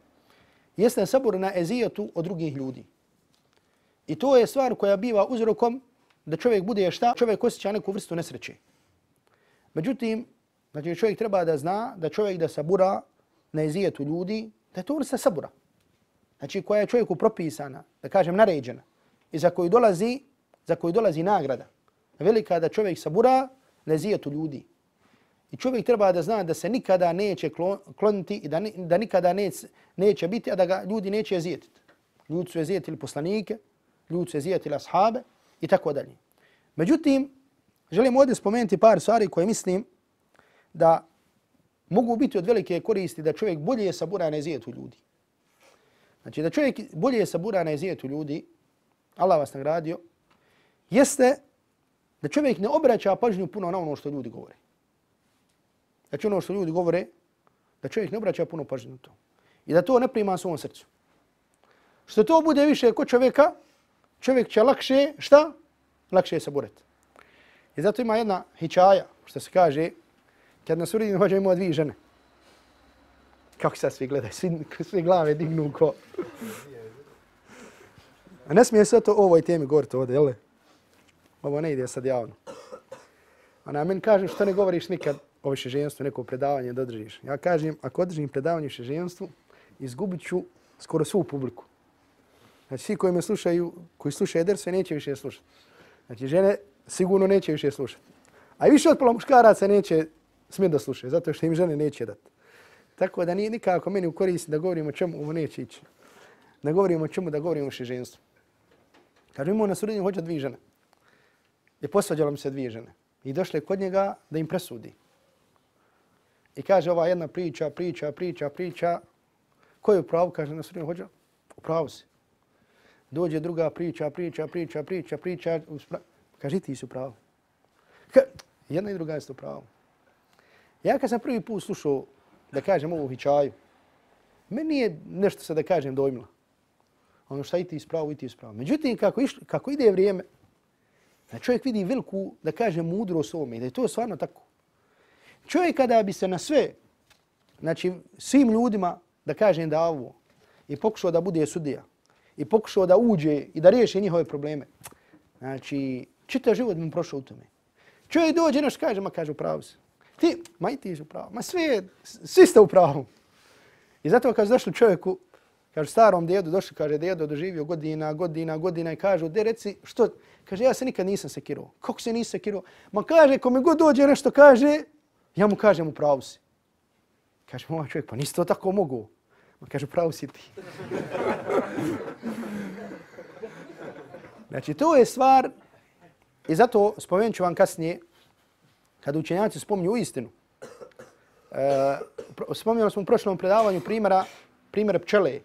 jeste sabur na ezijetu od drugih ljudi. I to je stvar koja biva uzrokom da čovjek bude šta? Čovjek osjeća neku vrstu nesreće. Međutim, Znači čovjek treba da zna da čovjek da sabura na ezijetu ljudi, da je to vrsta sabura. Znači koja je čovjeku propisana, da kažem naređena, i za koju dolazi, za koju dolazi nagrada. Velika da čovjek sabura na ezijetu ljudi. I čovjek treba da zna da se nikada neće kloniti i da, da nikada neće, neće biti, a da ga ljudi neće ezijetiti. Ljudi su ezijetili poslanike, ljudi su ezijetili ashabe i tako dalje. Međutim, želim ovdje spomenuti par stvari koje mislim da mogu biti od velike koristi da čovjek bolje sabura na ezijetu ljudi. Znači da čovjek bolje sabura na ezijetu ljudi, Allah vas nagradio, jeste da čovjek ne obraća pažnju puno na ono što ljudi govore. Znači ono što ljudi govore, da čovjek ne obraća puno pažnju na to. I da to ne prima svom srcu. Što to bude više kod čovjeka, čovjek će lakše, šta? Lakše saburati. I zato ima jedna hičaja, što se kaže, kad na suredinu hođa imao dvije žene. Kako sad svi gledaju, svi, svi glave dignu ko. A ne smije se to o ovoj temi govoriti ovdje, jel? Ovo ne ide sad javno. Ona meni kaže što ne govoriš nikad o višeženstvu, neko predavanje da održiš. Ja kažem, ako održim predavanje o višeženstvu, izgubit ću skoro svu publiku. Znači svi koji me slušaju, koji slušaju derse, neće više slušati. Znači žene sigurno neće više slušati. A više od pola muškaraca neće smjeti da slušaju, zato što im žene neće dati. Tako da nije nikako meni u koristi da govorimo o čemu, ovo neće ići. Da govorimo o čemu, da govorimo o višeženstvu. Kažu imao na surednju hođa dvije žene. I posvađalo mi se dvije žene. I došle kod njega da im presudi. I kaže ova jedna priča, priča, priča, priča. Ko je u pravu? Kaže na surednju hođa. U pravu si. Dođe druga priča, priča, priča, priča, priča. Kaže ti si u pravu. Jedna i druga je u pravu. Ja kad sam prvi put slušao da kažem ovu hičaju, meni nije nešto se da kažem dojmilo. Ono šta i ti ispravo, i ti ispravo. Međutim, kako, iš, kako ide vrijeme, da čovjek vidi veliku, da kaže, mudrost ovome i da je to stvarno tako. Čovjek kada bi se na sve, znači svim ljudima, da kažem da ovo, i pokušao da bude sudija, i pokušao da uđe i da riješi njihove probleme, znači čitav život mi prošao u tome. Čovjek dođe nešto kaže, ma kaže u pravu se. Ti, ma i ti si u pravu. Ma sve, svi ste u pravu. I zato kad došli čovjeku, kaže starom djedu, došli, kaže djedo doživio godina, godina, godina i kažu, de reci, što? Kaže, ja se nikad nisam sekirao. Kako se nisam sekirao? Ma kaže, ko mi god dođe nešto kaže, ja mu kažem u pravu si. Kaže, moj čovjek, pa nisi to tako mogu. Ma kaže, pravu si ti. Znači, to je stvar, i zato spomenut ću vam kasnije, kada učenjaci spominju istinu. E, spominjali smo u prošlom predavanju primjera, primjer pčele.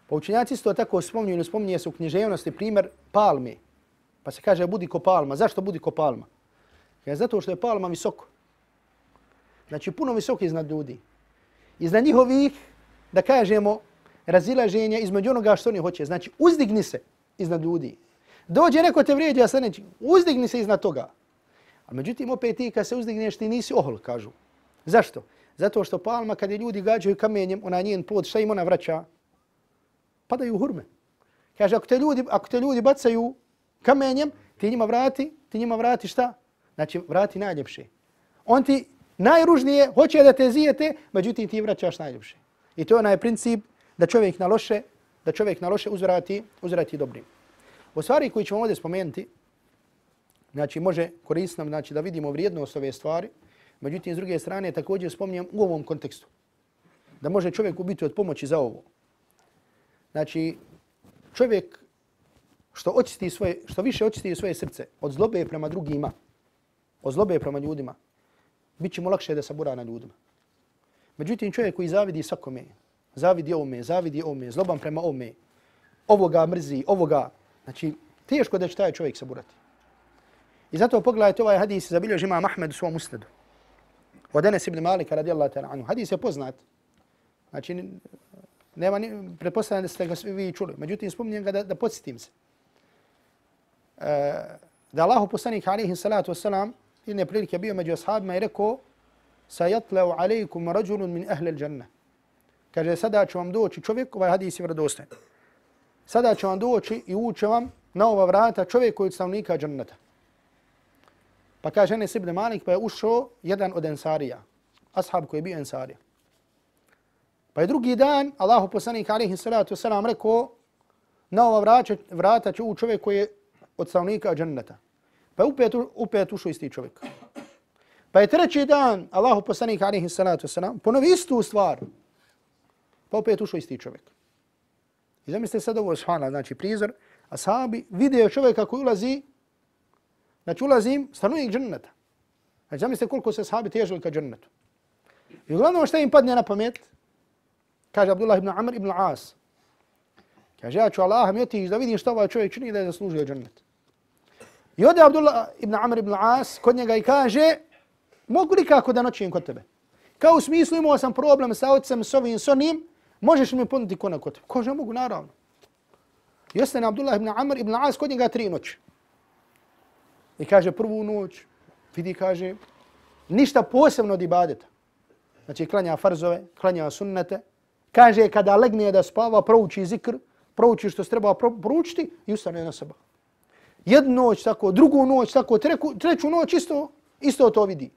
Pa učenjaci isto tako spominju ili spominje se u književnosti primjer palme. Pa se kaže budi ko palma. Zašto budi ko palma? Jer zato što je palma visoko. Znači puno visoko iznad ljudi. Iznad njihovih, da kažemo, razilaženja između onoga što oni hoće. Znači uzdigni se iznad ljudi. Dođe neko te vrijeđa, sa neći, uzdigni se iznad toga. A međutim, opet ti kad se uzdigneš, ti nisi ohol, kažu. Zašto? Zato što palma, kad je ljudi gađaju kamenjem, ona njen plod, šta im ona vraća? Padaju u hurme. Kaže, ako te ljudi, ako te ljudi bacaju kamenjem, ti njima vrati, ti njima vrati šta? Znači, vrati najljepše. On ti najružnije hoće da te zijete, međutim, ti vraćaš najljepše. I to je onaj princip da čovjek na loše, da čovjek na loše uzvrati, uzvrati dobrim. U stvari koji ćemo ovdje spomenuti, znači može koristiti nam znači, da vidimo vrijednost ove stvari, međutim, s druge strane, također spominjem u ovom kontekstu. Da može čovjek biti od pomoći za ovo. Znači, čovjek što, očisti svoje, što više očisti svoje srce od zlobe prema drugima, od zlobe prema ljudima, bit će mu lakše da sabura na ljudima. Međutim, čovjek koji zavidi svakome, zavidi ovome, zavidi ovome, zloban prema ovome, ovoga mrzi, ovoga, znači, teško da će taj čovjek saburati. I zato pogledajte ovaj hadis zabilježi imam Ahmed u svom musnadu. Od Enes ibn Malika radijallahu ta'ala anhu. Hadis je poznat. Znači, nema ni, pretpostavljam da ste ga svi vi čuli. Međutim, spominjem ga da, da podsjetim se. E, da Allahu poslanik alaihi salatu wasalam jedne prilike bio među ashabima i rekao sajatleu alaikum rađulun min ahle al-đanna. Kaže, sada će vam doći čovjek, ovaj hadis je vjerodostojan. Sada će vam doći i uće vam na ova vrata čovjek koji je od stanovnika džannata. Pa kaže Enes ibn Malik, pa je ušao jedan od ensarija, ashab koji je bio ensarija. Pa je drugi dan Allahu poslanik alejhi salatu vesselam rekao, na ova vrata, vrata će u čovjek koji je od stanovnika dženneta. Pa je upet, upet ušao isti čovjek. Pa je treći dan Allahu poslanik alejhi salatu vesselam ponovi istu stvar. Pa opet ušao isti čovjek. I zamislite sad ovo, subhanallah, znači prizor, ashabi vide čovjeka koji ulazi, znači ulazim stanovnik dženneta. Znači zamislite koliko se ashabi težili ka džennetu. I uglavnom šta im padne na pamet? Kaže Abdullah ibn Amr ibn As. Kaže, ja ću Allaha mi otići da vidim šta ovaj čovjek čini da je zaslužio džennet. I ode Abdullah ibn Amr ibn As kod njega i kaže, mogu li kako da noćim kod tebe? Kao u smislu imao sam problem sa ocem, s ovim, s onim, možeš mi ponuditi konak kod tebe? Kaže, mogu, naravno. I ostane Abdullah ibn Amr ibn As kod njega tri noći. I kaže, prvu noć, vidi, kaže, ništa posebno od ibadeta. Znači, klanja farzove, klanja sunnete. Kaže, kada legne da spava, prouči zikr, prouči što se treba proučiti i ustane na seba. Jednu noć tako, drugu noć tako, treku, treću noć isto, isto to vidi.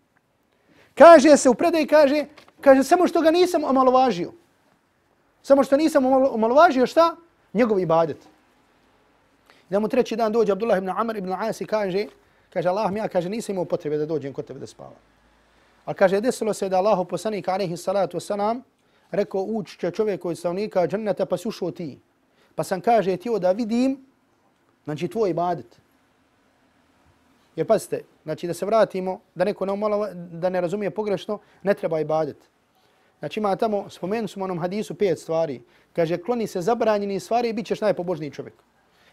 Kaže se u predaji, kaže, kaže, samo što ga nisam omalovažio. Samo što nisam omalovažio šta? Njegov ibadet. I da mu treći dan dođe Abdullah ibn Amr ibn As i kaže, kaže, Allah mi ja, kaže, nisam imao potrebe da dođem kod tebe da spava. Ali kaže, desilo se da Allahu poslanik alejhi salatu vesselam rekao, ući će čovjek od stanovnika dženneta, pa si ušao ti. Pa sam, kaže, htio da vidim, znači, tvoj ibadet. Jer pazite, znači da se vratimo, da neko ne, umalo, da ne razumije pogrešno, ne treba ibadet. Znači ima tamo, spomenu smo onom hadisu pet stvari. Kaže, kloni se zabranjeni stvari i bit ćeš najpobožniji čovjek.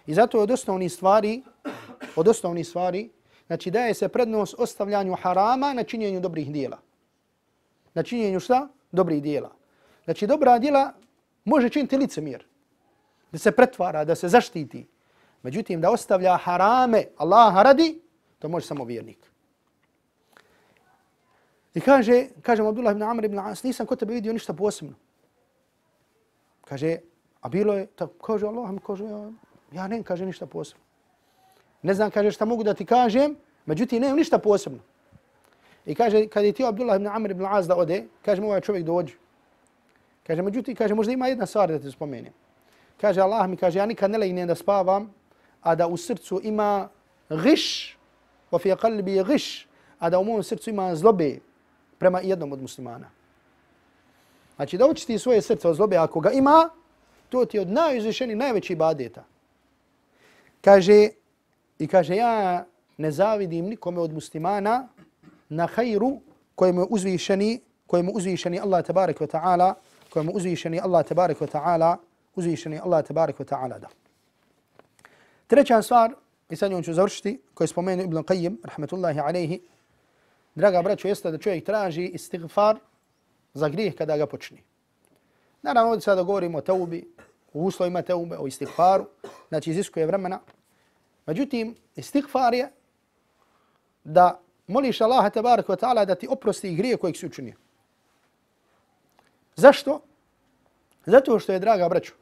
I zato je od osnovnih stvari, od osnovnih stvari, znači daje se prednost ostavljanju harama na činjenju dobrih dijela. Na činjenju šta? Dobrih dijela. Znači dobra dijela može činiti licemjer. Da se pretvara, da se zaštiti. Međutim, da ostavlja harame Allaha radi, to može samo vjernik. I kaže, kaže Abdullah ibn Amr ibn As, nisam kod tebe vidio ništa posebno. Kaže, a bilo je, tako, kaže Allah mi, kaže, ja, ja ne kaže ništa posebno. Ne znam, kaže, šta mogu da ti kažem, međutim, nemam ništa posebno. I kaže, kad je ti Abdullah ibn Amr ibn As da ode, kaže mu ovaj čovjek dođe. Kaže, međutim, kaže, možda ima jedna stvar da te spomenem. Kaže, Allah mi, kaže, ja nikad ne legnem da spavam, a da u srcu ima giš, wa fi qalbi giš, a da u mom srcu ima zlobe prema jednom od muslimana. Znači, da očisti svoje srce od zlobe, ako ga ima, to ti je od najuzvišeniji, najveći ibadeta. Kaže, i kaže, ja ne zavidim nikome od muslimana na hajru kojemu je uzvišeni, kojemu uzvišeni Allah tabarak wa ta'ala, kojemu uzvišeni Allah tabarak wa ta'ala, uzvišeni Allah tabarak wa ta'ala da. Treća stvar, i sad njom ću završiti, koju je spomenuo Ibn Qayyim, rahmetullahi alaihi, draga braćo, jeste da čovjek traži istighfar za grijeh kada ga počne. Naravno, ovdje sada govorimo o teubi, o uslovima teube, o istighfaru, znači iziskuje vremena. Međutim, istighfar je da moliš Allaha tabaraka wa ta'ala da ti oprosti grije kojeg si učinio. Zašto? Zato što je, draga braćo,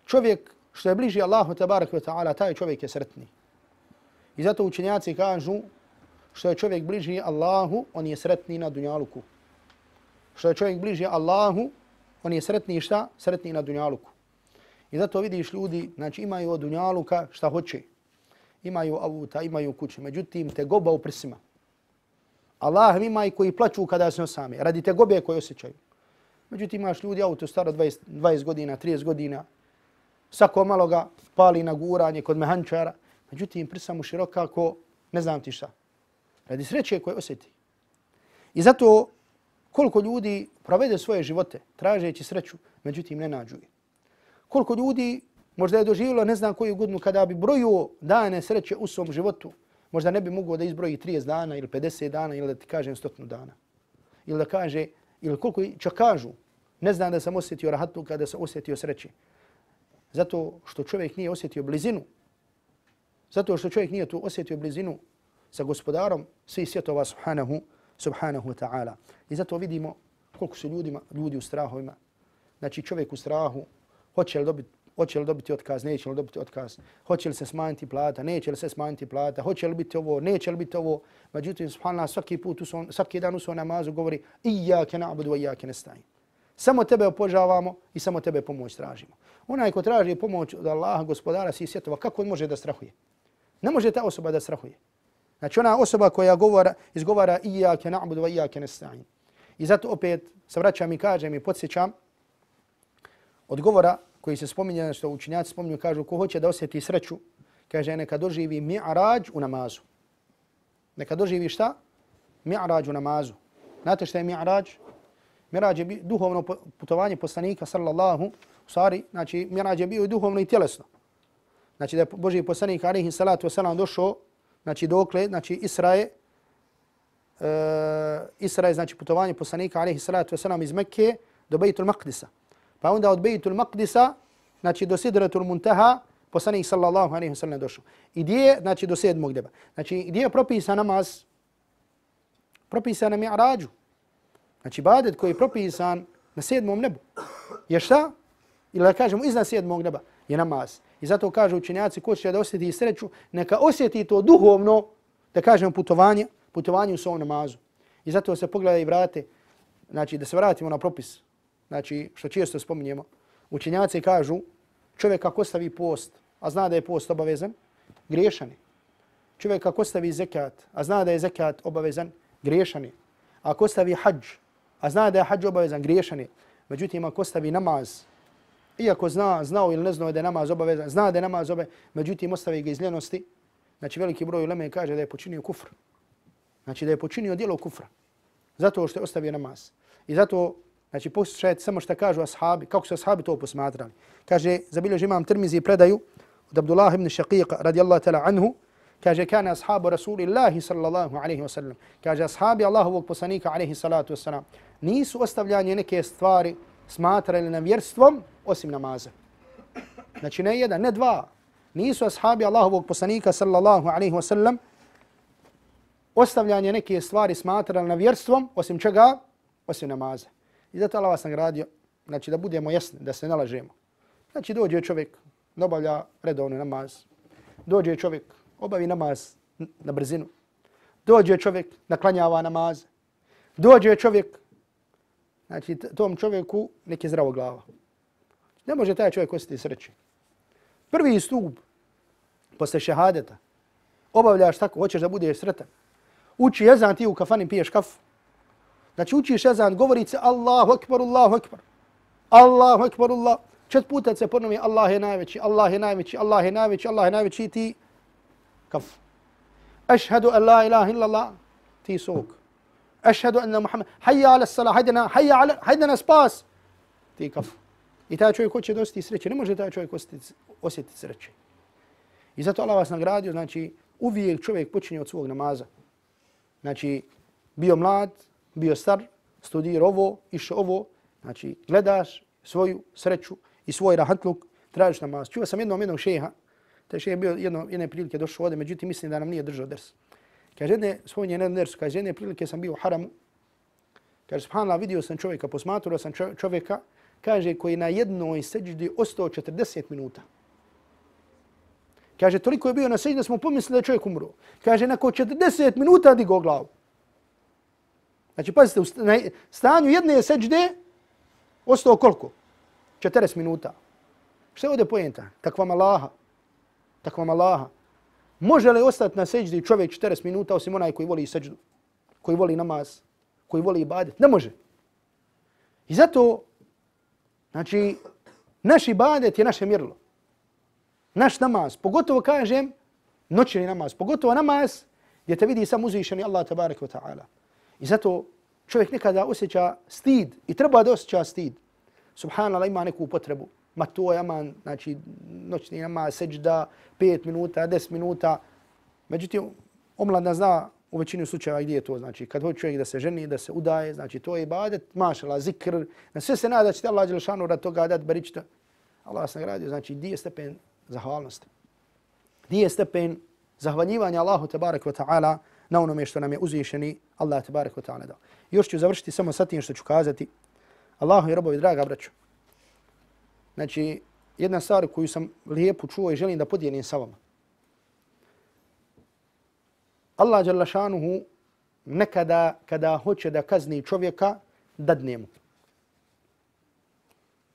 čovjek što je bliži Allahu tabaraka wa ta'ala, taj čovjek je sretni. I zato učenjaci kažu što je čovjek bliži Allahu, on je sretni na dunjaluku. Što je čovjek bliži Allahu, on je sretni šta? Sretni na dunjaluku. I zato vidiš ljudi, znači imaju od dunjaluka šta hoće. Imaju avuta, imaju kuće, međutim te goba u prsima. Allah ima i koji plaću kada se osame, radi te gobe koje osjećaju. Međutim imaš ljudi auto staro dvadeset, dvadeset godina, trideset godina, svako malo ga pali na guranje kod mehančara, međutim prsa mu široka ko ne znam ti šta. Radi sreće koje osjeti. I zato koliko ljudi provede svoje živote tražeći sreću, međutim ne nađu je. Koliko ljudi možda je doživjelo ne znam koju godinu kada bi brojio dane sreće u svom životu, možda ne bi mogao da izbroji trideset dana ili pedeset dana ili da ti kažem sto dana. Ili da kaže, ili koliko čak kažu, ne znam da sam osjetio rahatu kada sam osjetio sreće. Zato što čovjek nije osjetio blizinu. Zato što čovjek nije tu osjetio blizinu sa gospodarom svih svjetova subhanahu, subhanahu wa ta'ala. I zato vidimo koliko su ljudima, ljudi u strahovima. Znači čovjek u strahu, hoće li dobiti hoće li dobiti otkaz, neće li dobiti otkaz, hoće li se smanjiti plata, neće li se smanjiti plata, hoće li biti ovo, neće li biti ovo. Međutim, subhanallah, svaki put, usvom, svaki dan u svom namazu govori Iyake na'budu wa iyake nesta'in. Samo tebe opožavamo i samo tebe pomoć tražimo. Onaj ko traži pomoć od Allaha, gospodara svih svjetova, kako on može da strahuje? Ne može ta osoba da strahuje. Znači ona osoba koja govora, izgovara Iyake na'budu wa iyake nesta'in. I zato opet se vraćam i kažem i podsjećam od govora koji se spominje, što učinjaci spominju, kažu ko hoće da osjeti sreću, kaže neka doživi mi'rađ u namazu. Neka doživi šta? Mi'rađ u namazu. Znate šta je mi'rađ? Mi'rađ je duhovno putovanje poslanika sallallahu u stvari, znači mi'rađ je bio i duhovno i tjelesno. Znači da je Božji poslanik alejhi salatu vesselam došao, znači dokle, znači Isra je uh, Isra je znači putovanje poslanika alejhi salatu vesselam iz Mekke do Bejtul Maqdisa. Pa onda od Bejtul Maqdisa, znači do Sidratul Muntaha, poslanik sallallahu alejhi ve sellem došao. I gdje je, znači do sedmog neba. Znači gdje je propisan namaz? Propisan na mi'rađu. Znači ibadet koji je propisan na sedmom nebu. Je šta? Ili da kažemo iznad sedmog neba je namaz. I zato kažu učenjaci ko će da osjeti sreću, neka osjeti to duhovno, da kažemo putovanje, putovanje u svom namazu. I zato se pogleda i vrate, znači da se vratimo na propis. Znači, što često spominjemo, učenjaci kažu, čovjek ako ostavi post, a zna da je post obavezan, griješan je. Čovjek ako ostavi zekat, a zna da je zekat obavezan, griješan je. Ako ostavi hadž, a zna da je hadž obavezan, griješan je. Međutim, ako ostavi namaz, iako zna, znao ili ne znao da je namaz obavezan, zna da je namaz obavezan, međutim, ostavi ga iz ljenosti, znači veliki broj uleme kaže da je počinio kufr. Znači da je počinio djelo kufra. Zato što je ostavio namaz. I zato, znači poslušajte samo što kažu ashabi, kako su ashabi to posmatrali. Kaže, zabilježi imam Tirmizi predaju od Abdullah ibn Shaqiqa radijallahu ta'ala anhu, kaže, kana ashabu Rasulillahi sallallahu alaihi wa sallam. Kaže, ashabi Allahovog poslanika alaihi salatu wa sallam nisu ostavljanje neke stvari smatrali nevjerstvom osim namaza. Znači ne jedan, ne dva. Nisu ashabi Allahovog poslanika sallallahu alaihi wa sallam ostavljanje neke stvari smatrali nevjerstvom osim čega? Osim namaza. I zato Allah vas nagradio, znači da budemo jasni, da se ne lažemo. Znači dođe čovjek, obavlja redovni namaz. Dođe čovjek, obavi namaz na brzinu. Dođe čovjek, naklanjava namaz. Dođe čovjek, znači tom čovjeku neki zdravo glava. Ne može taj čovjek osjetiti sreće. Prvi stup posle šehadeta, obavljaš tako, hoćeš da budeš sretan. Uči jezan, ti u kafani piješ kafu. Znači učiš jezan, govori se Allahu ekber, Allahu ekber. Allahu ekber, Allah. Čet puta se ponovi Allah je najveći, Allah je najveći, Allah je najveći, Allah je najveći i ti kafu. Ašhadu an la ilaha illallah, ti sok. Ašhadu anna Muhammed, hayya ala salah, hajdena, hayya ala, hajdena spas, ti kafu. I taj čovjek hoće da osjeti sreće, ne može taj čovjek osjetiti, osjetiti sreće. I zato Allah vas nagradio, znači uvijek čovjek počinje od svog namaza. Znači bio mlad, bio star, studirao ovo, išao ovo, znači gledaš svoju sreću i svoj rahatluk, tražiš namaz. Čuo sam jednom jednog šeha, taj šeha je bio jedno, jedne prilike došao ovdje, međutim mislim da nam nije držao ders. Kaže, jedne, svoj jedne ders, kaže, jedne prilike sam bio u haramu, kaže, subhanallah, vidio sam čovjeka, posmatrao sam čovjeka, kaže, koji na jednoj seđdi ostao četrdeset minuta. Kaže, toliko je bio na seđdi da smo pomislili da je čovjek umro. Kaže, nakon četrdeset minuta digao glavu. Znači, pazite, u stanju jedne seđde ostao koliko? četrdeset minuta. Šta je ovdje pojenta? Takva Allaha. Takva Allaha. Može li ostati na seđdi čovjek četrdeset minuta osim onaj koji voli seđdu? Koji voli namaz? Koji voli ibadet? Ne može. I zato, znači, naš ibadet je naše mjerilo. Naš namaz, pogotovo kažem, noćni namaz, pogotovo namaz gdje te vidi sam uzvišeni Allah tabaraka wa ta'ala. I zato čovjek nekada osjeća stid i treba da osjeća stid. Subhanallah, ima neku potrebu. Ma to je aman, znači noćni namaz, seđda, pet minuta, deset minuta. Međutim, omladna zna u većini slučajeva gdje je to. Znači, kad hoće čovjek da se ženi, da se udaje, znači to je ibadet, mašala, zikr. Na sve se nada da će te Allah dželešanu rad toga dati baričta. Allah se nagradio, znači gdje je stepen zahvalnosti. Gdje je stepen zahvaljivanja Allahu tabaraka wa ta'ala na onome što nam je uzvišeni Allah tabaraka wa ta'ala dao. Još ću završiti samo sa tim što ću kazati. Allahu i robovi, draga braćo. Znači, jedna stvar koju sam lijepo čuo i želim da podijelim sa vama. Allah dželle šanuhu nekada kada hoće da kazni čovjeka, dadne mu.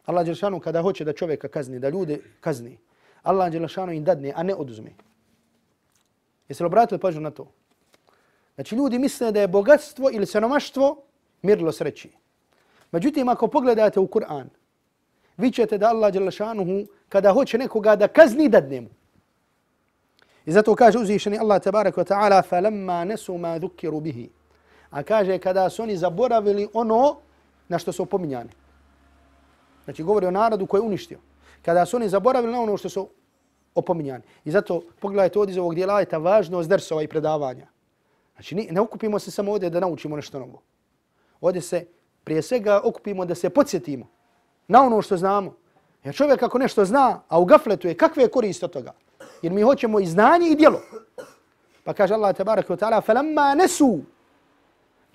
Allah dželle šanuhu kada hoće da čovjeka kazni, da ljude kazni, Allah dželle šanuhu im dadne, a ne oduzme. Jeste li obratili pažnju na to? Znači ljudi misle da je bogatstvo ili siromaštvo mjerilo sreći. Međutim, ako pogledate u Kur'an, vi ćete da Allah dželle šanuhu kada hoće nekoga da kazni, dadne mu. I zato kaže uzvišeni Allah tabaraka wa ta'ala فَلَمَّا نَسُوا مَا ذُكِّرُوا بِهِ. A kaže kada su oni zaboravili ono na što su opominjani. Znači govori o narodu koji je uništio. Kada su oni zaboravili na ono što su opominjani. I zato pogledajte ovdje iz ovog dijela ajeta važnost dersova i predavanja. Znači ne okupimo se samo ovdje da naučimo nešto novo. Ovdje se prije svega okupimo da se podsjetimo na ono što znamo. Jer čovjek ako nešto zna, a u gafletu je, kakve je korist od toga? Jer mi hoćemo i znanje i djelo. Pa kaže Allah tabaraka wa ta'ala فَلَمَّا نَسُوا.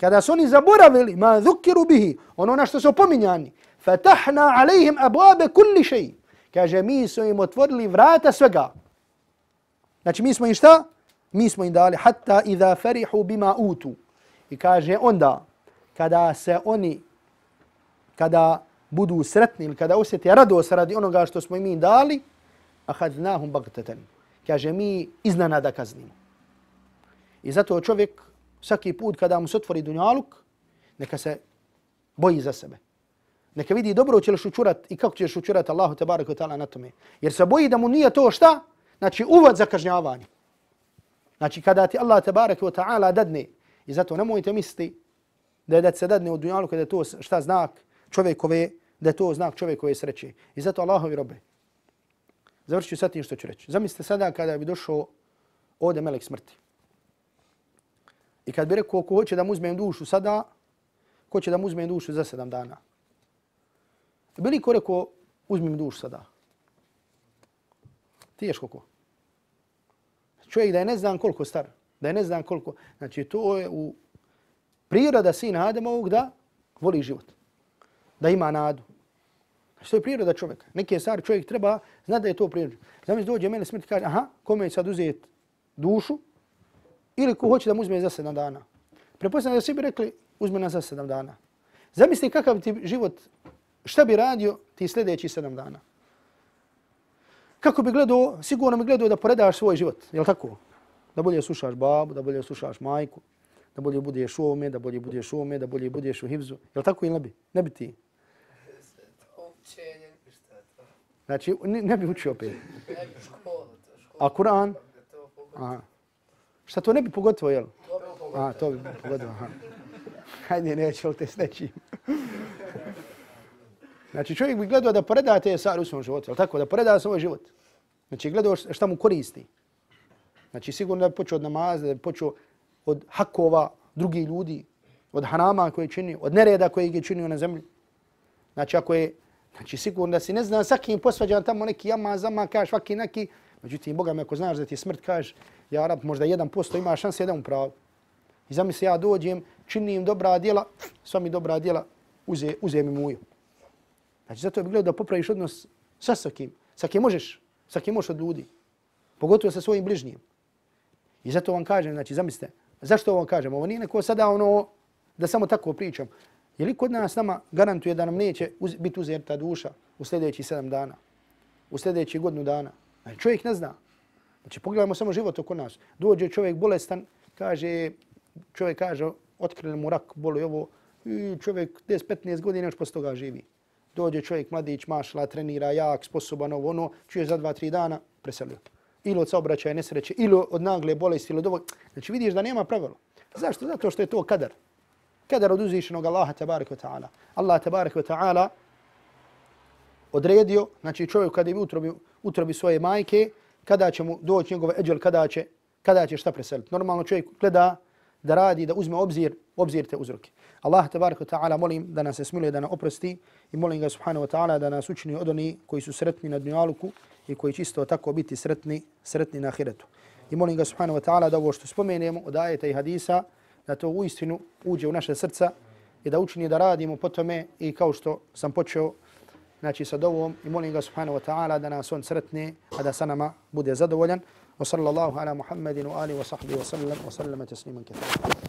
Kada su oni zaboravili ma dhukiru bihi, ono na što su opominjani, فَتَحْنَا عَلَيْهِمْ أَبْوَابَ كُلِّ شَيْءٍ. Kaže mi smo im otvorili vrata svega. Znači mi smo im šta? Mi smo im dali hatta idha farihu bima utu. I kaže onda kada se oni kada budu sretni ili kada osjete radost radi onoga što smo im dali, ahadnahum bagtatan. Kaže mi iznenada kaznimo. I zato čovjek svaki put kada mu se otvori dunjaluk, neka se boji za sebe. Neka vidi dobro će li šučurat i kako će šučurat Allahu tebareke ve taala na tome. Jer se boji da mu nije to šta? Znači uvod za kažnjavanje. Znači kada ti Allah tebareke ve taala dadne, i zato nemojte misliti da je da se dadne u dunjaluku da je to šta znak čovjekove, da je to znak čovjekove sreće. I zato Allahovi robe. Završit ću sad tim što ću reći. Zamislite sada kada bi došao ovdje melek smrti. I kad bi rekao ko hoće da mu uzmem dušu sada, ko će da mu uzmem dušu za sedam dana. Bi li ko rekao uzmem dušu sada? Teško ko? Čovjek da je ne znam koliko star, da je ne znam koliko. Znači to je u priroda sina Ademovog da voli život. Da ima nadu. Znači to je priroda čovjeka. Neke stvari čovjek treba zna da je to priroda. Zamisli dođe mene smrti i kaže aha, kome je sad uzeti dušu ili ko hoće da mu uzme za sedam dana. Pretpostavljam da svi bi rekli uzme nas za sedam dana. Zamisli kakav ti život, šta bi radio ti sljedeći sedam dana. Kako bi gledao, sigurno bi gledao da poredaš svoj život, je li tako? Da bolje slušaš babu, da bolje slušaš majku, da bolje budeš u ovome, da bolje budeš u ovome, da bolje budeš u hivzu. Je li tako ili ne bi? Ne bi ti. Znači, ne, ne bi učio opet. Ne bi školu. A Kur'an? Aha. Šta to ne bi pogotovo, jel? A, to bi pogotovo, aha. Hajde, neće li te s nečim. Znači, čovjek bi gledao da poreda te stvari u svom životu, jel tako? Da poreda svoj život. Znači, gledao šta mu koristi. Znači, sigurno da bi počeo od namaza, da bi počeo od hakova drugih ljudi, od harama koje je činio, od nereda koje je činio na zemlji. Znači, ako je, znači, sigurno da si ne zna sa kim posvađan tamo neki jama, zama, kaš, vaki, neki. Međutim, Boga me ako znaš da ti je smrt, kaš, ja rab, možda jedan posto ima šanse jedan u pravu. I zamisli ja dođem, činim dobra djela, sva mi dobra djela, uze, uze mi muju. Znači, zato bih gledao da popraviš odnos sa sa kim, sa kim možeš, sa kim možeš od ljudi. Pogotovo sa svojim bližnjim. I zato vam kažem, znači, zamislite, zašto vam kažem? Ovo nije neko sada ono, da samo tako pričam. Je li kod nas nama garantuje da nam neće uz, biti uzeta duša u sljedećih sedam dana, u sljedećih godinu dana? Znači, čovjek ne zna. Znači, pogledajmo samo život oko nas. Dođe čovjek bolestan, kaže, čovjek kaže, otkrili mu rak, boli ovo, i čovjek deset petnaest godina još posle toga živi. Dođe čovjek, mladić, mašla, trenira, jak, sposoban, ovo, ono, čuje za dva, tri dana, preselio. Ili od saobraćaja nesreće, ili od nagle bolesti, ili od ovog. Znači, vidiš da nema pravila. Zašto? Zato što je to kadar. Kadar od uzvišenog Allaha tabaraka wa ta'ala. Allah tabaraka wa ta'ala odredio, znači čovjek kada je u utrobi, utrobi svoje majke, kada će mu doći njegove eđel, kada će, kada će šta preseliti. Normalno čovjek gleda da radi, da uzme obzir, obzir te uzroke. Allah tabaraka wa ta'ala molim da nas se smiluje, da nas oprosti i molim ga subhanahu wa ta'ala da nas učini od onih koji su sretni na dunjaluku i koji će isto tako biti sretni, sretni na ahiretu. I molim ga subhanahu wa ta'ala da ovo što spomenemo od ajeta i hadisa, da to uistinu uđe u naše srca i da učini da radimo po tome i kao što sam počeo znači sa dovom i molim ga subhanahu wa ta'ala da nas on sretne, a da sa nama bude zadovoljan. Wa sallallahu ala Muhammedin wa alihi wa sahbihi wa sallam wa sallama tasliman kathira.